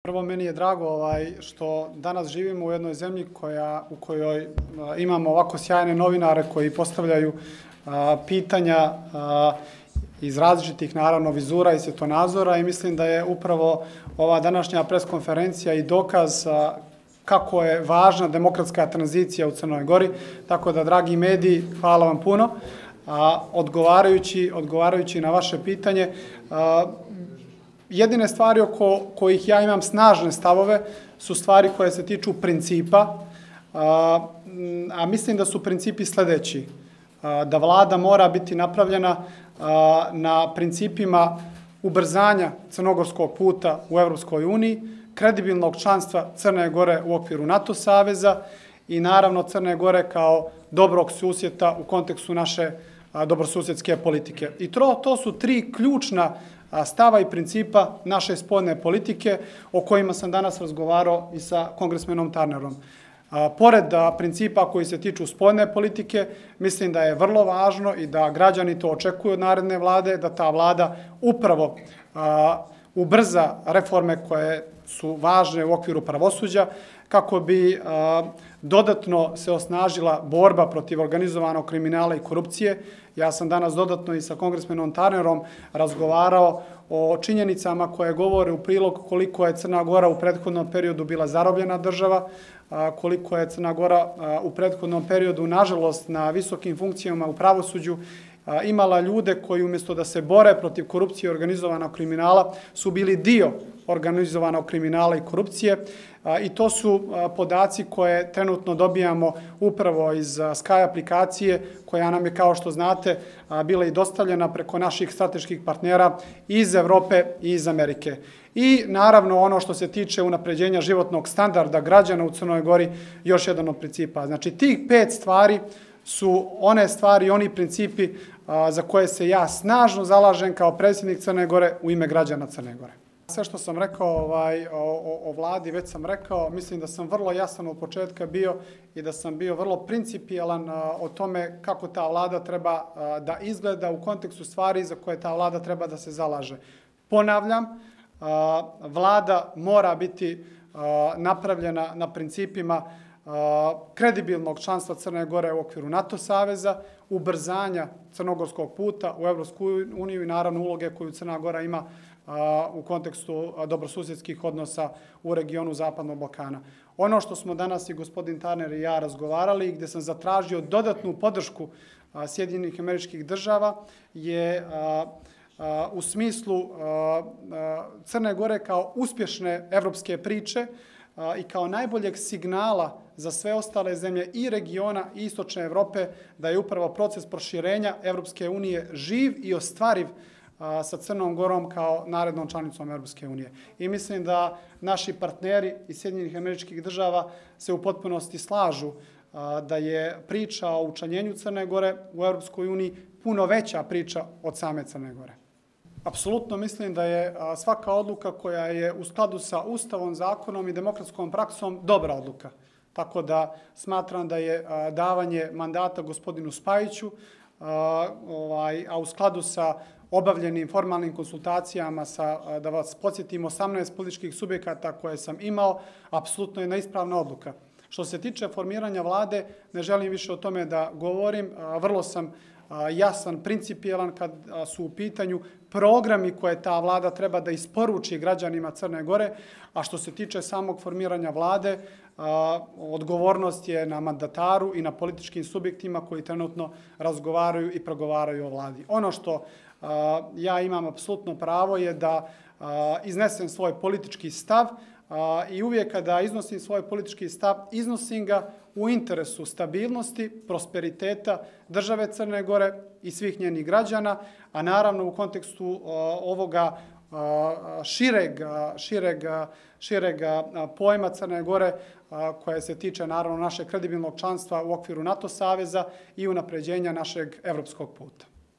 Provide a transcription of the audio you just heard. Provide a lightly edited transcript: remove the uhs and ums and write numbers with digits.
Prvo, meni je drago što danas živimo u jednoj zemlji u kojoj imamo ovako sjajne novinare koji postavljaju pitanja iz različitih, naravno, vizura i svjetonazora i mislim da je upravo ova današnja preskonferencija i dokaz kako je važna demokratska tranzicija u Crnoj Gori. Tako da, dragi mediji, hvala vam puno. Odgovarajući na vaše pitanje, jedine stvari oko kojih ja imam snažne stavove su stvari koje se tiču principa, a mislim da su principi sljedeći. Da vlada mora biti napravljena na principima ubrzanja crnogorskog puta u Europskoj uniji, kredibilnog članstva Crne Gore u okviru NATO saveza i naravno Crne Gore kao dobrog susjeda u kontekstu naše dobrosusjedske politike. I to su tri ključna stava i principa naše spoljne politike o kojima sam danas razgovarao i sa kongresmenom Turnerom. Pored principa koji se tiču spoljne politike, mislim da je vrlo važno i da građani to očekuju od naredne vlade, da ta vlada upravo ubrza reforme koje su važne u okviru pravosuđa, kako bi dodatno se osnažila borba protiv organizovanog kriminala i korupcije. Ja sam danas dodatno i sa kongresmenom Turnerom razgovarao o činjenicama koje govore u prilog koliko je Crna Gora u prethodnom periodu bila zarobljena država, koliko je Crna Gora u prethodnom periodu, nažalost, na visokim funkcijama u pravosuđu imala ljude koji umjesto da se bore protiv korupcije i organizovanog kriminala su bili dio organizovanog kriminala i korupcije. I to su podaci koje trenutno dobijamo upravo iz Sky aplikacije, koja nam je, kao što znate, bila i dostavljena preko naših strateških partnera iz Evrope i iz Amerike. I naravno ono što se tiče unapređenja životnog standarda građana u Crnoj Gori, još jedan od principa. Znači, tih 5 stvari su one stvari i oni principi za koje se ja snažno zalažem kao predsjednik Crne Gore u ime građana Crne Gore. Sve što sam rekao o vladi, već sam rekao, mislim da sam vrlo jasan od početka bio i da sam bio vrlo principijelan o tome kako ta vlada treba da izgleda u kontekstu stvari za koje ta vlada treba da se zalaže. Ponavljam, vlada mora biti napravljena na principima kredibilnog članstva Crne Gore u okviru NATO saveza, ubrzanja crnogorskog puta u Evropsku uniju i naravno uloge koju Crna Gora ima u kontekstu dobrosusjedskih odnosa u regionu Zapadnog Balkana. Ono što smo danas i gospodin Turner i ja razgovarali, gdje sam zatražio dodatnu podršku Sjedinjenih Američkih Država, je u smislu Crne Gore kao uspješne evropske priče i kao najboljeg signala za sve ostale zemlje i regiona i istočne Evrope, da je upravo proces proširenja Evropske unije živ i ostvariv sa Crnom Gorom kao narednom članicom Evropske unije. I mislim da naši partneri iz Sjedinjenih Američkih Država se u potpunosti slažu da je priča o učlanjenju Crne Gore u Evropskoj uniji puno veća priča od same Crne Gore. Apsolutno mislim da je svaka odluka koja je u skladu sa Ustavom, zakonom i demokratskom praksom dobra odluka. Tako da smatram da je davanje mandata gospodinu Spajiću, a u skladu sa obavljenim formalnim konsultacijama da vas podsjetim, 18 političkih subjekata koje sam imao, apsolutno je neispravna odluka. Što se tiče formiranja vlade, ne želim više o tome da govorim. Vrlo sam jasan, principijelan kad su u pitanju programi koje ta vlada treba da isporuči građanima Crne Gore, a što se tiče samog formiranja vlade, odgovornost je na mandataru i na političkim subjektima koji trenutno razgovaraju i progovaraju o vladi. Ono što ja imam apsolutno pravo je da iznesem svoj politički stav i uvijek kada iznosim svoj politički stav, iznosim ga u interesu stabilnosti, prosperiteta države Crne Gore i svih njenih građana, a naravno u kontekstu ovoga šireg pojma Crne Gore koje se tiče naravno našeg kredibilnog članstva u okviru NATO saveza i unapređenja našeg evropskog puta.